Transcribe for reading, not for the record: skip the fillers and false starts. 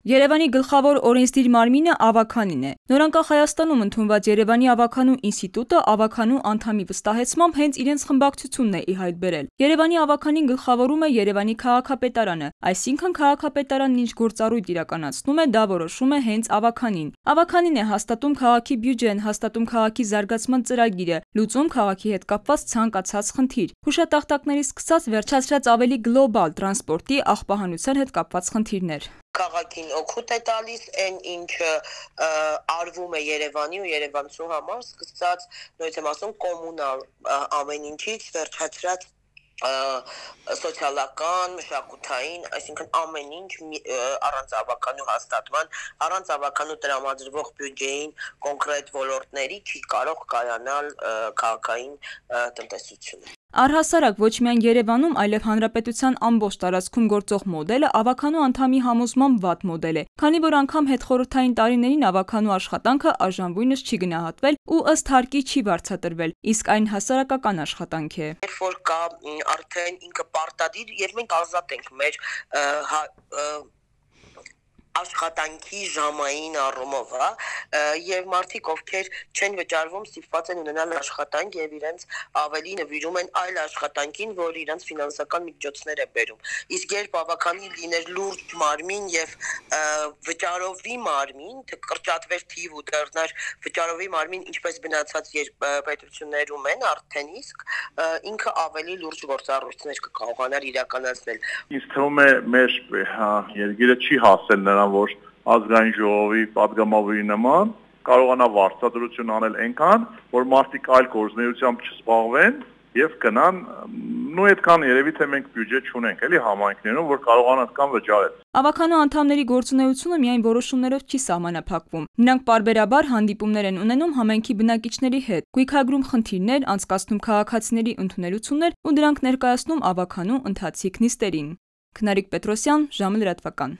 Երևանի գլխավոր օրենսդիր մարմինը Ավագանին է։ Նորանկախ Հայաստանում ընդունված Երևանի ավագանու ինստիտուտը ավագանու անդամի վստահեցմամբ հենց իրենց խմբակցությունն է ի հայտ բերել։ Երևանի ավագանին գլխավորում է Երևանի քաղաքապետարանը, այսինքն քաղաքապետարանն ինչ գործառույթ իրականացնում է, դա որոշում է հենց ավագանին։ Ավագանին է հաստատում քաղաքի բյուջեն, հաստատում քաղաքի զարգացման ծրագիրը, լուծում քաղաքի հետ կապված ցանկացած խնդիր։ Հուշատախտակներից սկսած վերջացրած ավելի գլոբալ տրանսպորտի, աղբահանության հետ կապված խնդիրներ։ Քաղաքին օգուտ է տալիս այն ինչը արվում է Երևանի ու երևանցու համար, սկսած նույնիսկ եմ ասում կոմունալ ամեն ինչից վերջացրած սոցիալական, մշակութային, այսինքն ամեն ինչ առանց ավագանու հաստատման, առանց ավագանու տրամադրվող բյուջեին կոնկրետ ոլորտների չի կարող կայանալ քաղաքային տնտեսությունը։ Առհասարակ ոչ միայն Երևանում, այլև հանրապետության ամբողջ տարածքում գործող մոդելը ավագանու անդամի համոզմամբ վատ մոդել է, քանի որ անգամ հետխորհրդային տարիներին ավագանու աշխատանքը արժանվույնս չի գնահատվել ու ըստ հարկի չի վարձատրվել, իսկ այն հասարակական աշխատանք է։ Երբ որ կա արդեն ինքը պարտադիր եւ մենք ազատ ենք մեր աշխատանքի ժամային առումով, եւ մարդիկ ովքեր չեն վճարվում, ստիպված են ունենալ աշխատանք եւ իրենց ավելի նվիրում են այլ աշխատանքին, որ իրենց ֆինանսական միջոցներ է բերում։ Իսկ երբ ավագանի լիներ լուրջ մարմին եւ վճարովի մարմին, կրճատվեր թիվ ու դառնար վճարովի մարմին, ինչպես գնացած պետություններում են արդեն իսկ ինքը ավելի լուրջ գործառույթներ կկարողանար իրականացնել։ Ինձ թվում է մեր երկիրը չի հասել նրան, որ ազգային ժողովի պատգամավորի նման կարողանա վարձատրություն անել այնքան, որ մարդիկ այլ գործունեությամբ չզբաղվեն եւ գնան, նույն այդքան երևի թե մենք բյուջե չունենք, էլի համայնքներում, որ կարողանան այդքան վճարել։ Ավագանու անդամների գործունեությունը միայն որոշումներով չի սահմանափակվում։ Նրանք պարբերաբար հանդիպումներ են ունենում համայնքի բնակիչների հետ, գույքագրում խնդիրներ, անցկացնում քաղաքացիների ընդունելություններ ու դրանք ներկայացնում ավագանու ընթացիկ նիստերին։ Քնարիկ Պետրոսյան, ժամը լրատվական։